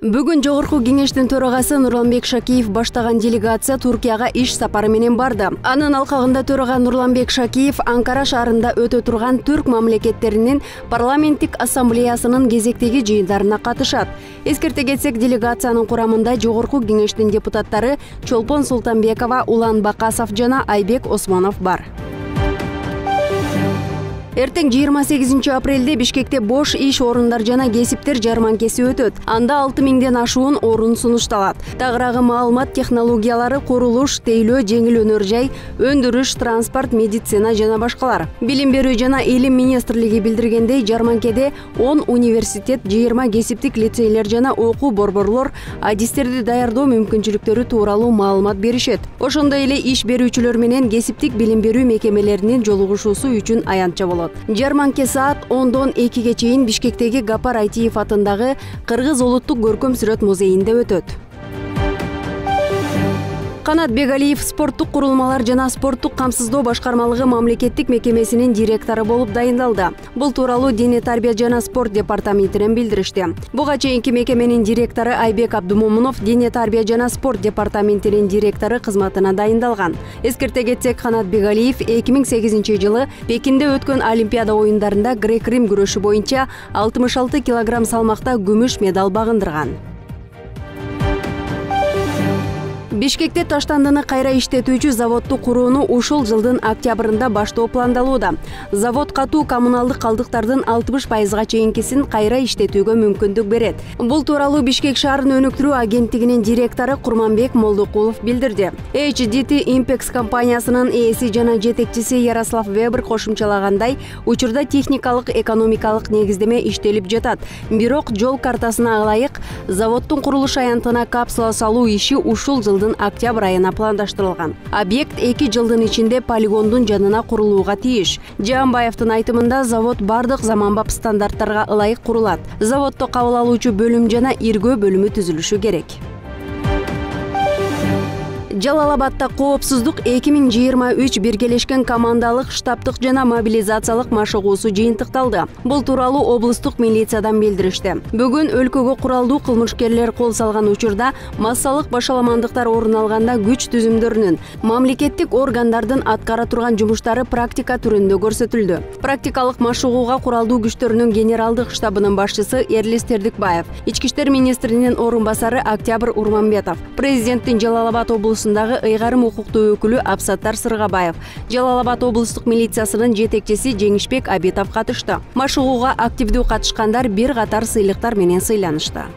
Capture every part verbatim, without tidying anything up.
Бүгүн Жогорку Кеңештин төрагасы Нурланбек Шакиев баштаган делегация Туркияга иш сапары менен барды. Анын алкагында төрага Нурланбек Шакиев Анкара шаарында өтө турган түрк мамлекеттеринин парламенттик ассамблеясынын кезектеги жыйындарына катышат. Эскерте кетсек, делегациянын курамында Жогорку Кеңештин депутаттары Чолпон Султанбекова, Улан Бакасов жана Айбек Осмонов бар. Эртең жыйырма сегизинчи апрелде Бишкекте бош иш орундар жана кесиптер жарманкеси өтөт. Анда алты миңден ашуун орун сунушталат. Тагыраагы маалымат технологиялары, курулуш, тейлөө, жеңил өнөр жай, өндүрүш, транспорт, медицина жана башкалар. Билим берүү жана илим министрлиги билдиргендей, жарманкеде он университет, жыйырма кесиптик лицейлер жана окуу борборлор адистерди даярдоо мүмкүнчүлүктөрү тууралуу маалымат беришет. Ошондой эле иш берүүчүлөр менен кесиптик билим берүү мекемелеринин жолугушуусу үчүн аянтча болот. Жарманке саат ондон экиге чейин Бишкектеги Гапар Айтиев атындагы Кыргыз улуттук көркөм сүрөт музейинде өтөт. Канат Бегалиев спорттук курулмалар жана спорттук камсыздоо башкармалыгы мамлекеттик мекемесинин директору болуп дайындалды. Бул тууралуу Дене тарбия жана спорт департаментинен билдиришти. Буга чейинки мекеменин директору Айбек Абдумомунов Дене тарбия жана спорт департаментинин директору кызматына дайындалган. Эскерте кетсек, Канат Бегалиев эки миң сегизинчи жылы Пекинде өткөн Олимпиада оюндарында грек-рим күрөшү боюнча алтымыш алты килограмм салмакта күмүш медаль багындырган. Бишкекте таштандыны кайра иштетүүчү заводду курууну ушул жылдын октябрында баштоо пландалууда. Завод катуу коммуналдык калдыктардын алтымыш пайызга чейинкисин кайра иштетүүгө мүмкүндүк берет. Бул тууралуу Бишкек шаарын өнүктүрүү агенттигинин директору Курманбек Молдукулов билдирди. эйч ди ти Impex компаниясынын ээси жана жетекчиси Ярослав Вебер кошумчалагандай, учурда техникалык экономикалык негиздеме иштелип жатат. Бирок жол картасына ылайык заводдун курулуш аянтына капсула салуу иши ушул жылдын октябрь айына пландаштырылган. Объект эки жылдын ичинде полигондун жанына курулууга тийиш. Жаанбаевдин айтымында, завод бардык заманбап стандарттарга ылайык курулат. Заводдо кабыл алуучу бөлүм жана иргөө бөлүмү түзүлүшү керек. Жалал-Абадта коопсуздук эки миң жыйырма үч биргелешкен командалык штабтык жана мобилизациялык машыгуусу жыйынтыкталды. Бул тууралуу облустук милициядан билдиришти. Бүгүн өлкөгө куралдуу кылмышкерлер кол салган учурда массалык башаламандыктар орун алганда күч түзүмдөрүнүн, мамлекеттик органдардын аткара турган жумуштары практика түрүндө көрсөтүлдү. Практикалык машыгууга куралдуу күчтөрүнүн генералдык штабынын башчысы Эрлис Тердикбаев, ички иштер министринин орун басары Октябрь Урманбетов, президенттин Жалал-Абад облусундагы ыйгарым укуктуу өкүлү Абсаттар Сыргабаев, Жалал-Абад облустук милициясынын жетекчиси Жеңишбек Абитов катышты. Машыгууга активдүү катышкандар бир катар сыйлыктар менен сыйланышты.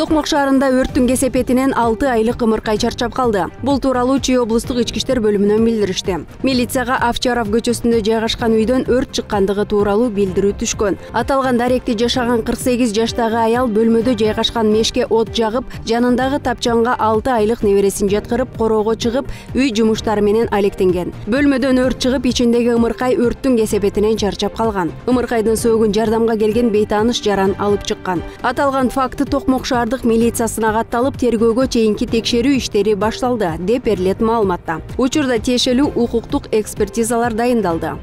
Токмок шаарында өрттүн кесепетинен алты айлык ымыркай чарчап калды. Бул тууралуу Чүй облустук ички иштер бөлүмүнөн билдиришти. Милицияга Овчаров көчөсүндө жайгашкан үйдөн өрт чыккандыгы тууралуу билдирүү түшкөн. Аталган даректи жашаган кырк сегиз жаштагы аял бөлмөдө жайгашкан мешке от жагып, жанындагы тапчанга алты айлык небересин жаткырып, короого чыгып, үй жумуштары менен алектенген. Бөлмөдөн өрт чыгып, ичиндеги ымыркай өрттүн кесепетинен чарчап калган. Ымыркайдын сөөгүн жардамга келген бейтааныш жаран алып чыккан. Аталган факты Токмок шаар милициясына катталып, тергөөгө чейинки текшерүү иштери башталды, деп берилет маалыматта. Учурда тиешелүү укуктук экспертизалар дайындалды.